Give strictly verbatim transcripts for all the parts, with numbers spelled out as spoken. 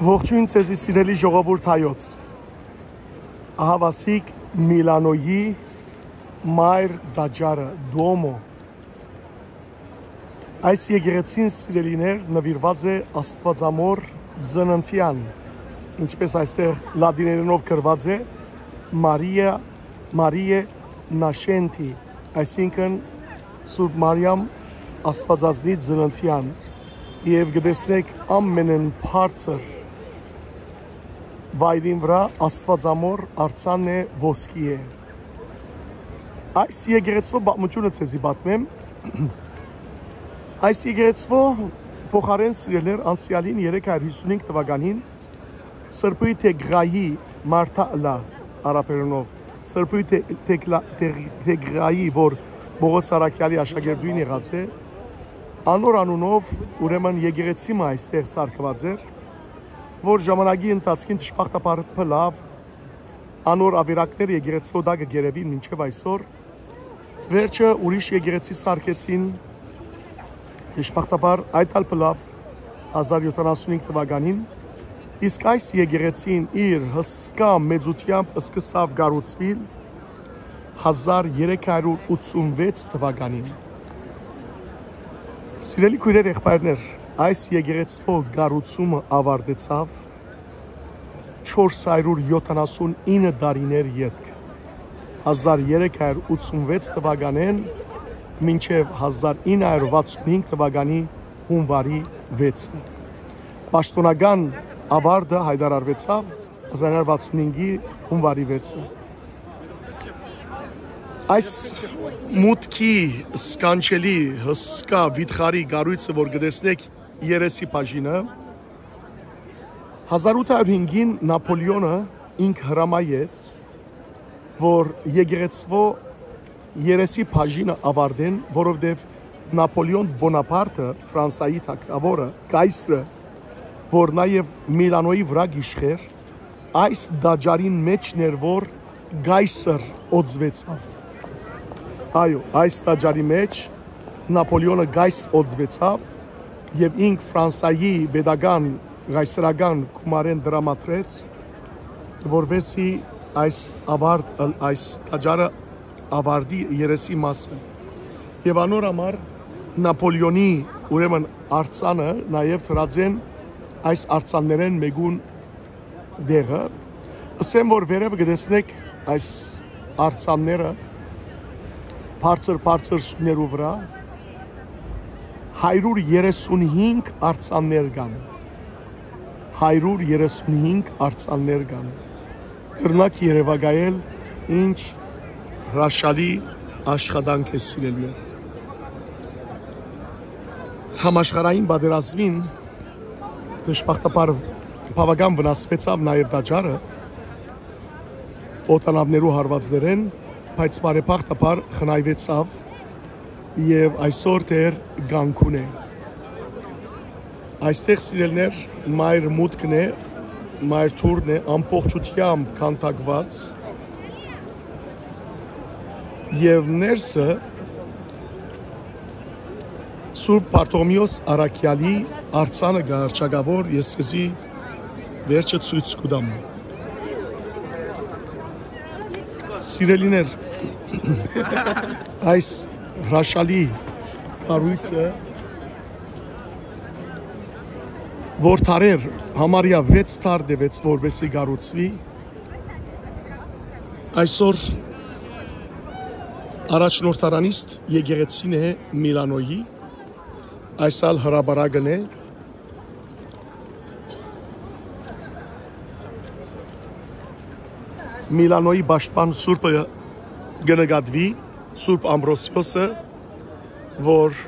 Ողջույն ձեզի, սիրելի ժողովուրդ հայոց։ Ահավասիկ Միլանոյի մայր տաճարը, Դուոմո։ Այս եկեղեցին, սիրելիներ, նվիրված է Աստուածամոր ծննդեան, ինչպես այստեղ լատիներենով գրված է, Մարիա, Մարիե Նաշենտի, այսինքն Սուրբ Մարիամ Աստվածածնի ծննդեան, եւ կը տեսնէք ամենէն բարձր վայրին վրայ Աստուածամոր արձանն է, ոսկի է։ Այս եկեղեցւոյ պատմութիւնը ձեզի պատմեմ։ Այս եկեղեցւոյ փոխարէն, սիրելիներ, անցեալին, երեք հարիւր հիւսունհինգ թուականին, Սրբոյ Թեգրայի, Մարտա ըլլայ արաբերենով, Սրբոյ Թե-, Թեգլա-, Թեգ-, Թեգրայի, որ Պողոս Առաքեալի աշակերտուհին եղած է, անոր անունով, ուրեմն, եկեղեցի մը այստեղ սարքուած էր, որ ժամանակի ընթացքին, դժբախտաբար, փլաւ, անոր ավերակները եկեղեցւոյ տակը կ'երեւին մինչեւ այսօր։ Վերջը ուրիշ եկեղեցի սարքեցին, դժբախտաբար, այդ ալ փլաւ, հազար յոթանասունհինգ թուականին, իսկ այս եկեղեցին իր հսկայ մեծութեամբ սկսաւ կառուցուիլ հազար երեք հարիւր ութսունվեց թուականին։ Սիրելի քոյրեր, եղբայրներ, այս եկեղեցւոյ կառուցումը աւարտեցաւ չորս հարիւր յոթանասունինը տարիներ ետք, հազար երեք հարիւր ութսունվեց թուականէն մինչեւ հազար ինը հարիւր վաթսունհինգ թուականի յունուարի վեցը։ Պաշտօնական աւարտը յայտարարուեցաւ հազար ինը հարիւր վաթսունհինգի յունուարի վեցը։ Այս մուտքի սքանչելի, հսկայ, վիթխարի կառոյցը, որ կը տեսնէք, երեսի բաժինը, հազար ութ հարիւր հինգին Նապոլեոնը ինք հրամայեց, որ եկեղեցւոյ երեսի բաժինը աւարտեն, որովհետեւ Նապոլեոն Պոնապարտը, Ֆրանսայի թագաւորը, կայսրը, որ նաեւ Միլանոյի վրայ կ'իշխէր, այս տաճարին մէջն էր, որ կայսր օծուեցաւ։ Այո, այս տաճարի մէջ Նապոլեոնը կայսր օծուեցաւ եւ ինք Ֆրանսայի պետական կայսրական գումարէն տրամադրեց, որպեսզի այս աւարտ, այս տաճարը աւարտի, երեսի մասը։ Եւ անոր համար Նապոլեոնի, ուրեմն, արձանը նաեւ դրած են այս արձաններէն մէկուն տեղը։ Ըսեմ, որ վերեւը կը տեսնէք այս արձանները, բարձր-բարձր սուրներու վրայ, հարիւր երեսունհինգ արձաններ կան։ Հարիւր երեսունհինգ արձաններ կան։ Կրնաք երեւակայել ինչ հրաշալի աշխատանք է, սիրելիներ։ Համաշխարհային պատերազմին, դժբախտաբար, բաւական վնասուեցաւ նաեւ տաճարը օդանաւներու հարուածներէն, բայց բարեբախտաբար խնայուեցաւ եւ այսօր դեռ կանգուն է։ Այստեղ, սիրելիներ, մայր մուտքն է, մայր դուռն է, ամբողջութեամբ քանդակուած, եւ ներսը Սուրբ Բարթողմէոս Առաքեալի արձանը կայ, հռչակաւոր, ես քեզի վերջը ցոյց կու տամ։ Սիրելիներ, այս հրաշալի կառոյցը, որ դարեր, համարյա վեց դար տեւեց, որպեսզի կառուցուի, այսօր առաջնորդարանիստ եկեղեցին է Միլանոյի, այս ալ հրապարակն է։ Միլանոյի պաշտպան սուրբը կը նկատուի, Սուրբ Ամբրոսիոսը, որ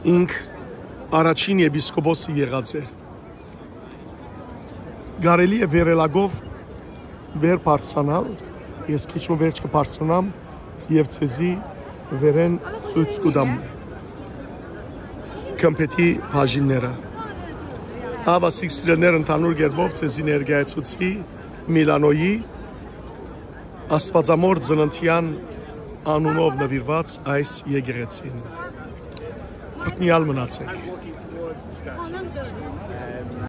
ինք առաջին եպիսկոպոսը եղած է։ Կարելի է վերելակով վեր բարձրանալ, ես քիչ մը վերջ կը բարձրանամ եւ ձեզի վերէն ցոյց կու տամ գմբէթի բաժինները։ Հաւասիկ սիրելիներ, ընդհանուր կերպով ձեզի ներկայացուցի Միլանոյի Աստուածամոր ծննդեան անունով նուիրուած այս եկեղեցին։ Օրհնեալ մնացեք։